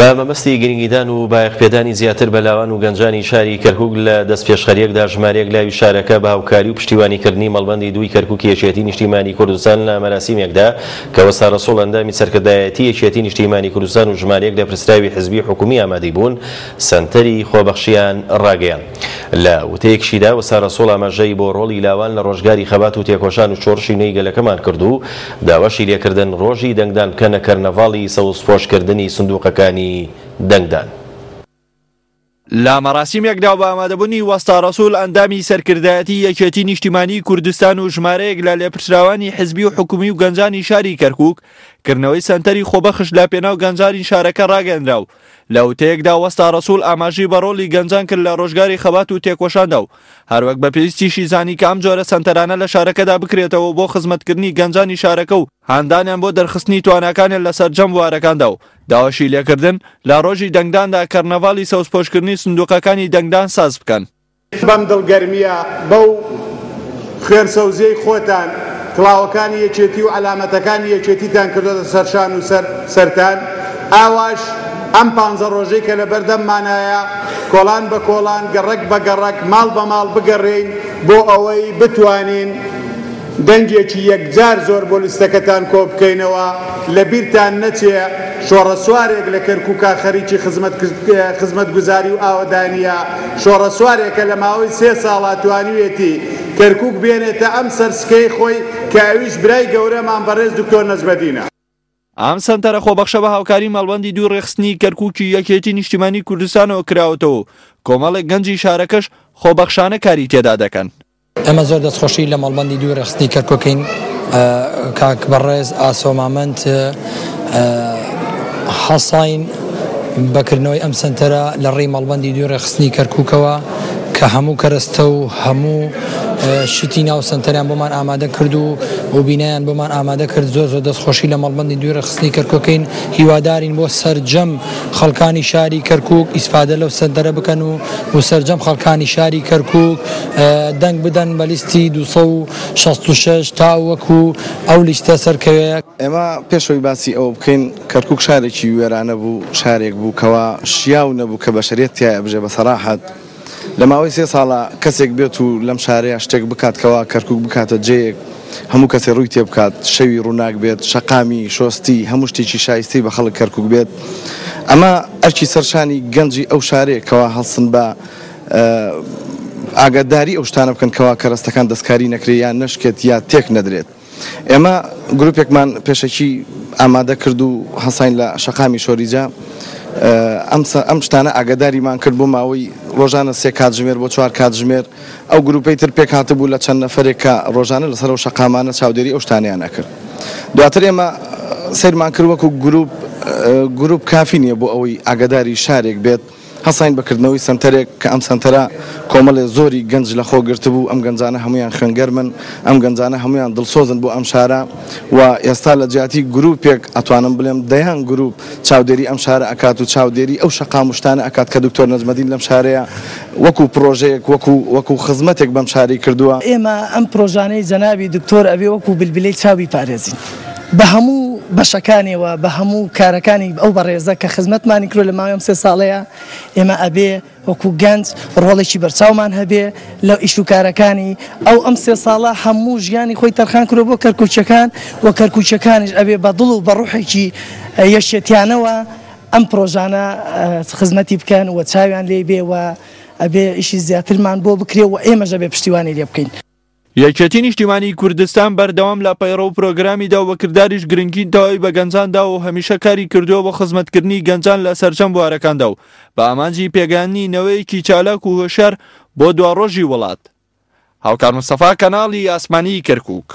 بە مەبەستی گرنگیدان و بایەخپێدانی زیاتر بە لاوان و گەنجانی شاری کەرکوک لە دەستپێشخەرییەکدا ژمارەیەک لاوی شارەکە بە هاوکاری و پشتیوانیکردنی مەڵبەندی دووی کەرکوکی یەکێتی نیشتیمانی کوردستان لە مەراسیمێکدا کە وەستا رەسوڵ ئەندامی سەرکردایەتی یەکێتی نیشتیمانی کوردستان و ژمارەیەک لێپرسراوی حزبی و حکومی ئامادەی بوون سەنتەری خۆبەخشیان ڕاگەیاند. لە وتەیەکشیدا وەستا رەسوڵ ئاماژەی بۆ ڕۆڵی لاوان لە ڕۆژگاری خەبات و تێکۆشان و شۆڕشی نوێی گەلەکەمان کرد و داواشی لێکردن ڕۆژی دەنگدان بکەنە کەرنەڤاڵی سەوزپۆشکردنی سندوقەکانی دەنگدان. لە مەراسیمێکدا و بە ئامادەبوونی وەستا ڕەسوڵ ئەندامی سەرکردایەتی یەکێتی نیشتیمانیی کوردستان و ژمارەیەک لە لێپرسراوانی حزبی و حکومی و گەنجانی شاری کەرکوک، کردنەوەی سەنتەری خۆبەخش لە پێناو گەنجانی شارەکە ڕاگەیەنرا و لە وتەیەکدا وەستا ڕەسوڵ ئاماژەی بە ڕۆڵی گەنجان کرد لە ڕۆژگاری خەبات و تێکۆشاندا و هەروەک بە پێویستیشی زانی کە ئەم جۆرە سەنتەرانە لە شارەکەدا بکرێتەوە بۆ خزمەتکردنی گەنجانی شارەکە و هاندانیان بۆ دەرخستنی تواناکانیان لە سەرجەم بوارەکاندا و داواشی لێکردن لە ڕۆژی دەنگداندا کەرنەڤاڵی سەوزپۆشکردنی سندوقەکانی دەنگدان ساز بکەن. بەم دڵگەرمییە، بەو خوێن سەوزیەی خۆتان، کڵاوەکانی یەکێتی و عەلامەتەکانی یەکێتیتان کردۆتە سەر شان و سەر سەرتان، ئاواش ئەم پانزە ڕۆژەی کە لەبەردەممانایە، کۆڵان بە کۆڵان، گەڕەک بە گەڕەک، ماڵ بە ماڵ بگەڕێین بۆ ئەوەی بتوانین دەنگێکی یەکجار زۆر بۆ لیستەکەتان کۆبکەینەوە، لەبیرتان نەچێ شۆڕەسوارێک لە کەرکوکا خەریکی خزمەتگوزاری و ئاوەدانییە، شۆڕەسوارێکە لە ماوەی سێ ساڵا توانیویەتی کەرکوک بێنێتە ئەم سەر سکەی خۆی کە ئەویش برای گەورەمان بەڕێز دکتۆر نەجمەدینە. ئەم سەنتەرە خۆبەخشە بە هاوکاری مەڵبەندی دووی ڕێکخستنی کەرکوکی یەکێتی نیشتیمانی کوردستانەوە کراوەتەوە و کۆمەڵێک گەنجی شارەکەش خۆبەخشانە کاری تێدا دەکەن. ئێمە زۆر دەستخۆشی لە مەڵبەندی دووی ڕێکخستنی کەرکوکین کاک بەڕێز ئاسۆ مامەند هەڵساین بە کردنەوەی ئەم سەنتەرە لە ڕێی مەڵبەندی دووی ڕێکخستنی کەرکوکەوە کە هەموو کەرەستە و هەموو شتی ناو سەنتەریان بۆمان ئامادە کرد و و بینایان بۆمان ئامادە کرد زۆر زۆر دەستخۆشی لە مەڵبەندی دووی ڕێکخستنی کەرکوکین هیوادارین بۆ سەرجەم خەڵکانی شاری کەرکوک ئیسفادە لەو سەنتەرە بکەن و و سەرجەم خەڵکانی شاری کەرکوک دەنگ بدەن بە لیستی 266 تا وەکو ئەو لیستە سەرکەوێ. ئێمە پێش ئەوەی باسی ئەوە بکەین کەرکوک شارێکی وێرانە بوو، شارێک بوو کەوا شیاو نەبوو کە بەشەریەت تیایا بژێ بە سەراحەت لە ماوەی سێ ساڵا کەسێک بێت و لەم شارەیا شتێک بکات کەوا کەرکوک بکاتە جێیەک هەموو کەسێ ڕووی تێ بکات شەوی ڕووناک بێت شەقامی شۆستی هەموو شتێکی شایستەی بە خەڵک کەرکوک بێت ئەمە ئەرکی سەر شانی گەنجی ئەو شارەیە کەوا هەڵسن بە ئاگاداری ئەو شتانە بکەن کەوا کەرەستەکان دەستکاری نەکرێت یا نەشکێت یا تێک نەدرێت. ئێمە گروپێکمان پێشەکی ئامادە کرد و هەساین لە شەقامی شۆریجە ئەم ئەم شتانە ئاگاداریمان کرد بۆ ماوەی ڕۆژانە سێ کاتژمێر بۆ چوار کاتژمێر ئەو گروپەی تر پێکهاتبوو لە چەند نەفەرێک کە ڕۆژانە لەسەر ئەو شەقامانە چاودێری ئەو شتانەیان ئەکرد دواتر ئێمە سەیرمان کرد وەکو گروپ گروپ کافی نییە بۆ ئەوەی ئاگاداری شارێک بێت هەستاین بە کردنەوەی سەنتەرێک کە ئەم سەنتەرە کۆمەڵێ زۆری گەنج لە خۆ گرتبوو، ئەم گەنجانە هەموویان خوێنگەرمن، ئەم گەنجانە هەموویان دڵسۆزن بۆ ئەم شارە و ئێستا لە جیاتی گرووپێک ئەتوانم بڵێم دەیان گرووپ چاودێری ئەم شارە ئەکات و چاودێری ئەو شەقام و شتانە ئەکات کە دکتۆر نەجمەدین لەم شارەیە وەکوو پڕۆژەیەک وەکوو وەکوو خزمەتێک بەم شارەی کردووە. ئێمە ئەم پرۆژانەی جەنابی دکتۆر ئەبێ وەکوو بلبلەی چاو بیپارێزین. بە هەموو بەشەکانیەوە بە هەموو کارەکانی ئەو بەڕێزە کە خزمەتمانی کردوە لە ماوەی ئەم سێ ساڵەیا ئێمە ئەبێ وەکو گەنج ڕۆڵێکی بەرچاومان هەبێ لە ئیش و کارەکانی ئەو ئەم سێ ساڵە هەموو ژیانی خۆی تەرخان کردوە بۆ کەرکوکیەکان و کەرکوکیەکانیش ئەبێ بە دڵ و بە ڕوحێکی یەکێتیانەوە ئەم پرۆژانە خزمەتی بکەن و چاویان لێی بێ و ئەبێ ئیشی زیاترمان بۆ بکرێ و ئێمەش ئەبێ پشتیوانی لێ بکەین. یەکێتی نیشتیمانیی کوردستان بەردەوام لە پەیڕەو و پرۆگرامیدا و بە کرداریش گرنگی تەواوی بە گەنجان داوە و هەمیشە کاری کردووە بۆ خزمەتکردنی گەنجان لە سەرجەم بوارەکاندا و بە ئامانجی پێگەیاندنی نەوەیەکی چالاک و هۆشیار بۆ دواڕۆژی وڵات. هاوکار مستەفا، کەناڵی ئاسمانیی کەرکووک.